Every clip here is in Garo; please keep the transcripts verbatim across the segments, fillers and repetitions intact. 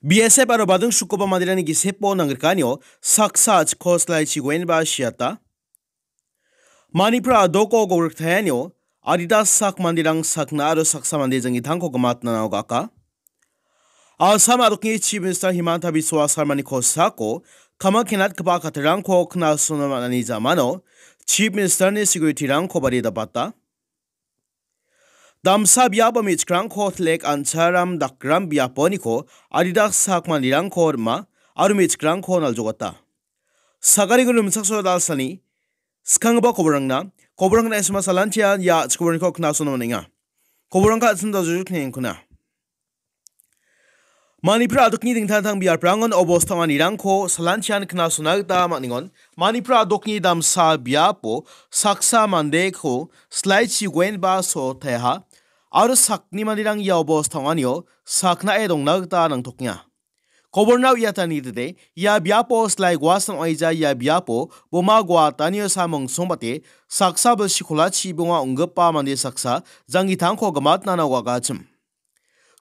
B S F aro bading sukgipa manderangni gisepo nangrikanio saksa a·chikko silaichi guenba siata. Manipur a·doko gogriktaianio adita sak manderang sakna aro saksa mande jangitangko gimatna nagaka. Assam a·dokni Chief Minister Himanta Biswa Sarmani kosako kama kenatgipa katirangko knasona man·ani jamano Chief Ministerni security-rangko bari dapata. Damsa biapo me·chikrangko tlek ancharam dakram biaponiko adita sak manderangko rima aro me·chikrangko naljogata. Sagariko rimchaksoa dalsani skanggipa koborangna, koborangna S M S salantian ia chikoborangko knasona man·enga. Koborangka a·chim dajujukni engkuna. Manipur a·dokni dingtang dingtang biaprangon obosta ong·anirangko salantian knasona gita man·engon. Manipur a·dokni damsa biapo saksa mandeko silaichi guenba so·otaha aro sakni manderang ia obosta ong·anio saknae dongna gita nangtokenga. Koborna uiatanidide, ia biapo silai guasan ong·aija ia biapo boma guatanio samong songbate saksa bilsi kolachi bonga ong·gipa mande saksa jangitangko gimatna nagakachim.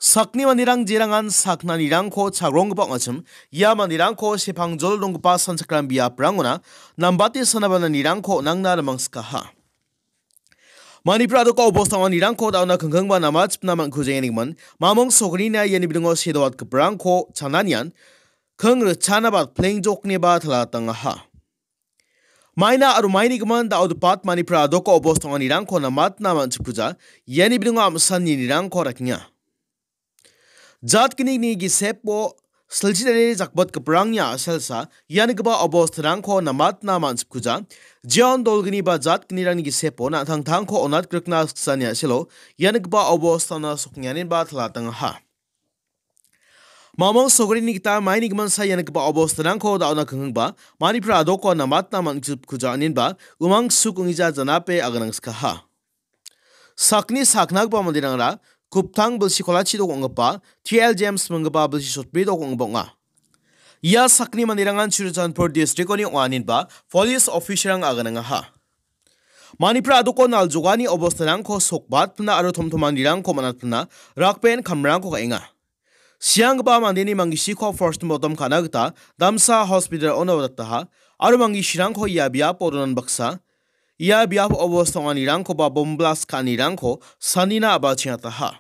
Sakni manderang jerangan saknanirangko chagronggipa ong·achim, ia manderangko sepangjol donggipa sanchakram biaprangona nambate sanabananirangko nangna rimangskaha. Manipur a·doko obosta ong·anirangko da·ona kingkingba namachipna man·kujaenigman, mamong sokrini iani bidingo sedoatgiparangko chananian, king richana bat plengjokniba talatangaha. Maina aro maini gimin da·odepat Manipur a·doko obosta ong·anirangko namatna man·chipkuja, iani bidingo am·san ninirangko rakenga. Jat gnini gisepo silchi dare jakbatgiparangni a·selsa ianigipa obostarangko namatna man·chipkuja. Jeon dolgni ba jat gnirangni gisepo na·tangtangko onatgrikna siksani a·selo ianigipa obostana soknianinba talatangaha. Mamong sokrini gita maini giminsa ianigipa obostarangko da·ona kingkingba Manipur a·doko namatna man·chipkuja aninba umang suk ong·ija janape aganangskaha. Sakni saknagipa manderangara kuptang bilsi kolachi dok ong·gipa T L James minggipa bilsi sotbri dok ong·gipa ong·a. Ia sakni manderangan Churachandpur district-oni ong·a aninba police officer-rang aganangaha. Manipur a·doko naljogani obostarangko sokbatpina aro tomtomanirangko man·atpina rakben kamrangko ka·enga. Sianggipa mandeni mangisiko postmortem ka·na gita damsa hospital-ono dataha aro mangisirangko ia biapo donan baksa, ia biapo obosta ong·anirangkoba bomblas ka·anirangko sanina a·bachengataha.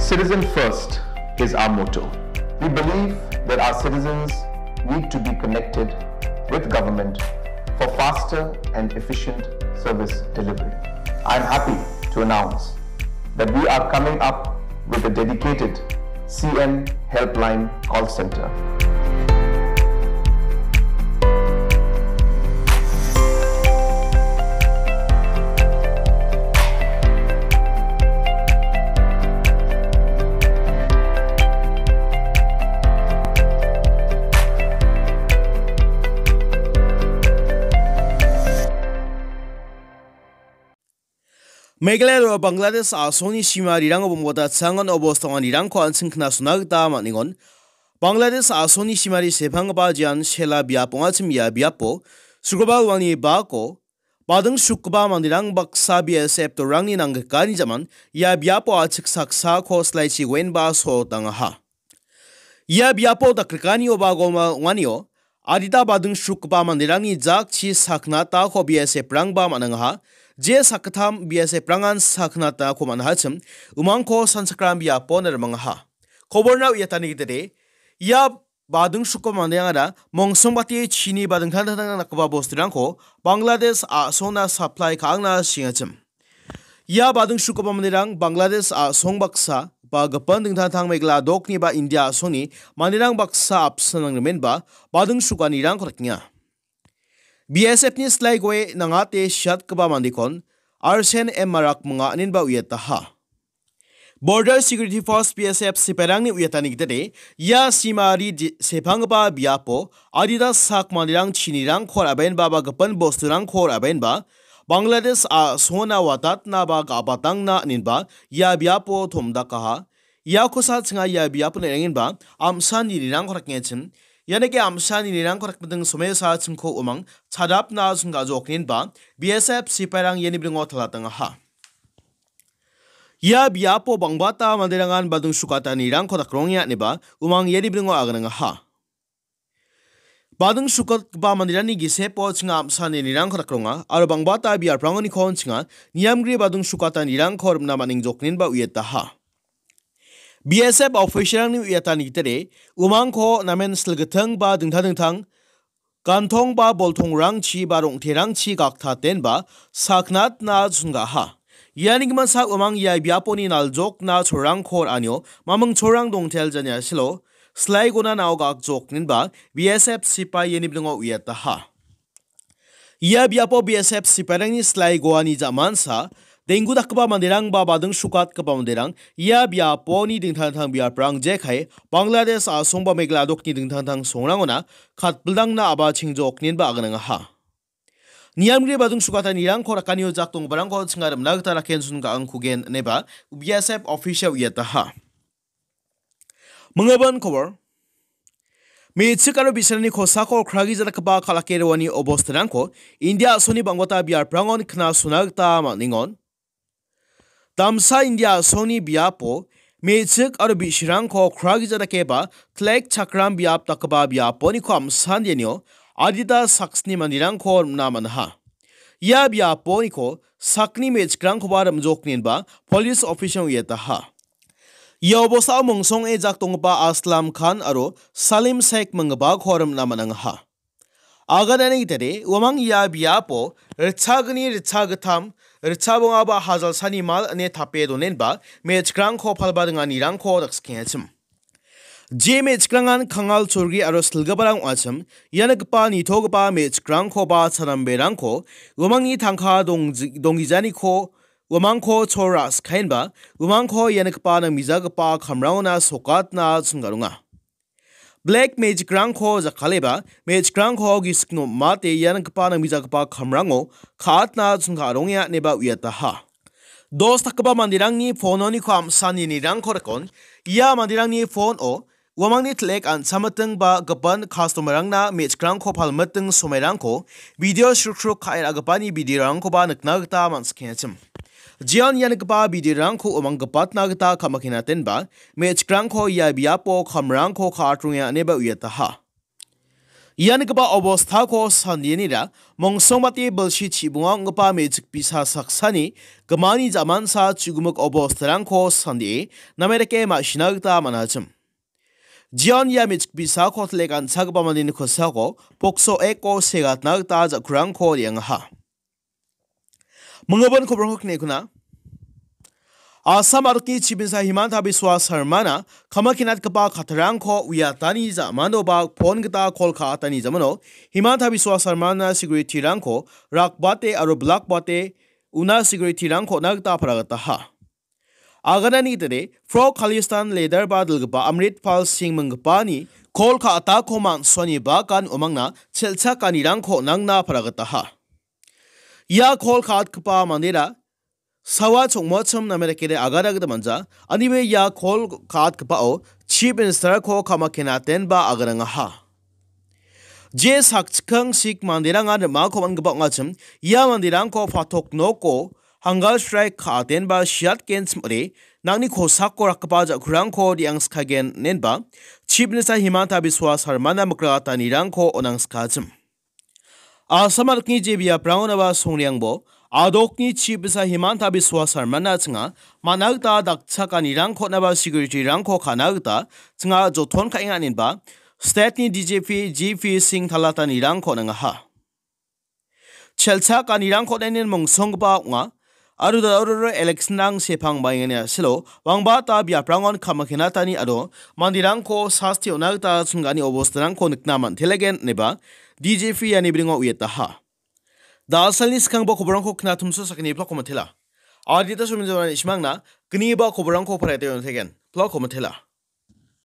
Citizen first is our motto. We believe that our citizens need to be connected with government for faster and efficient service delivery. I am happy to announce that we are coming up with a dedicated C M Helpline call center. Meghalaya aro Bangladesh a·songni simarirango bomgota changan obostonganirangko an·ching knasona gita man·engon. Bangladesh a·songni simari sepanggipa jean sela biap ong·achim ia biapo, Sukrobal wani bako, bading sukgipa manderang baksa B S F torangni nanggrikani jaman ia biapo a·chik saksako silaichi guenba so·otangaha. Ia biapo dakrikanioba goma ong·anio, adita bading sukgipa manderangni jakchi saknatako B S F-rangba man·angaha, je sakgittam B S F-rangan saknatako man·ahachim, umangko sanchakram biapo narimangaha. Koborna uiatani gitade, ia bading sukgipa manderangara mongsongbate chini ba dingtang dingtang dakgipa bosturangko Bangladesh a·sona supply ka·angna sengachim. Ia bading sukgipa manderang Bangladesh a·song baksa ba gipin dingtang dingtang Meghalaya dokni ba India a·songni manderang baksa apsan nangrimenba bading sukanirangko dakenga. B S F-ni silai goe nangate siatgipa mandekon Arsen M Marak minga aninba uiataha. Border Security Force B S F sipairangni uiatani gitade, ia simari di-, sepanggipa biapo adita sak manderang chinirangko ra·baenba ba gipin bosturangko ra·baenba, Bangladesh a·songna watatna ba ga·batangna inenba ia biapo tomdakaha. Ia kosa chinga ia biapo nengenba am·sa nirangko rakengachim. Ianike am·sa nirangko rakmiting somesa chingko umang chadapna chingga jokninba B S F sipairang iani bringo talatangaha. Ia biapo bangbata manderangan badung sukata nirangko dakrongenga ineba umang iani bringo aganangaha. Bading sukatgipa manderangni gisepo chinga am·sa nirangko dakronga aro bangbata biaprangoniko chinga niamgri bading sukata nirangko rimna man·engjokninba uiataha. B S F officialrangni uiatani gitere umangko namen silgitting ba dingtang dingtang gantong ba boltongrangchi ba rong·terangchi gaktatenba saknatna chungaha. Iani giminsa umang ia biaponi naljokna cholrangko ra·anio maming cholrang dongtel janiasilo silaigona nao gakjokninba B S F sipai iani bringo uiataha. Ia biapo B S F sipairangni silaigoani jamansa denggu dakgipa manderang ba bading sukatgipa manderang ia biaponi dingtang dingtang biaprang jekai Bangladesh a·song ba Meghalaya dokni dingtang dingtang songrangona katbildangna aba chengjokninba aganangaha. Niamgri badung sukata nirangko rakanio jak donggiparangko chinga rimna gita raken sun ga·angkugen ineba B S F official uiataha. Minggipa kobor. Me·chik aro bi·sarangni kosako kragi jadakgipa kal·ake roani obostarangko India a·songni bangbata biaprangon knasona gita man·engon. Damsa India a·songni biapo me·chik aro bi·sarangko kragi jadakeba tlek chakram biap dakgipa biaponiko am·sandenio adita saksni manderangko rim·na man·aha. Ia biaponiko sakni me·chikrangkoba rim·jokninba police official uiataha. Ia obostao mongsonge jak donggipa Aslam Khan aro Salim Sheikh minggipako rim·na man·angaha. Aganani gitade, uamang ia biapo ritchagni, ritchagittam, ritchabonga ba hajalsani mal ine tape donenba me·chikrangko palba ringanirangko dakskengachim. Je me·chikrangan kangal cholgri aro silgiparang ong·achim, ia nikgipa nitogipa me·chikrangko ba chanamberangko uamangni tangka dongji-, donggijaniko uamangko chol ra·skaenba, uamangko ia nikgipa nangmijagipa kamrangona sokatna chinggaronga. Black magic-rangko jakkaleba, magic-rangko gisik nom·ate ia nikgipa nangmijagipa kamrango ka·atna chingka·arongenga ineba uiataha. Dos dakgipa manderangni phone-oniko am·sanirangko rikon, ia manderangni phone-o uamangni tlek an·chamiting ba gipin customer-rangna magic-rangko palmiting somairangko video srukruk ka·e ra·gipani video-rangkoba nikna gita man·sikengachim. Jeon ia nikgipa video-rangko uamang gipatna gita ka·makenatenba, magic-rangko ia biapo kamrangko ka·atrongenga ineba uiataha. Ia nikgipa obostako sandenira mongsongbate bilsi chibonga ong·gipa magic bisa saksani gimani jamansa chugimik obostarangko sandee name dake ma·sina gita man·achim. Jeon ia magic bisako tlek an·chakgipa mandeni kosako pokso eko segatna gita ja·kurangko re·angaha. Minggipa koborangko kine·kuna. Assam adokni Chief Minister Himanta Biswa Sarmana kamakenatgipa kattarangko uiatani ja·manoba phone gita call ka·atani ja·mano Himanta Biswa Sarmana security-rangko rakbate aro bilakbate una security-rangko on·a gita paragataha. Aganani gitade, Pro Khalistan leader ba dilgipa Amritpal Singh minggipani call ka·atako man·suani bagan uamangna chelchakanirangko on·angna paragataha. Ia call ka·atgipa mandera sawa chongmochim name dakede agada gita manja, anibe ia call ka·atgipao Chief Minister-ko kamakenatenba aganangaha. Je sakchikang sik manderangan rim·ako man·gipa ong·achim, ia manderangko patok noko hunger strike ka·atenba siatgenchim ong·ode, nangni kosako rakgipa ja·kurangko re·angskagen inenba Chief Minister Himanta Biswa Sarmana mikragatanirangko on·angskachim. Assam adokni je biaprangonaba songreangbo, adokni Chief Minister Himanta Biswa Sarmana chinga man·a gita dakchakanirangko on·aba security-rangko ka·na gita chinga joton ka·enga inenba state-ni D G P G P Singh talatanirangko on·angaha. Chelchakanirangko on·ainen mongsonggipa ong·a. Aro da·oro election-rang sepang baengani a·selo, bangbata biaprangon kamakenatani aro manderangko sasti on·a gita chingani obostarangko nikna man·telegen ineba D G P iani bringo uiataha. Da·salni skanggipa koborangko knatumso sakgni plako matela. Adita sominjorani simangna gniba koborangko paraite on·tegen plako matela.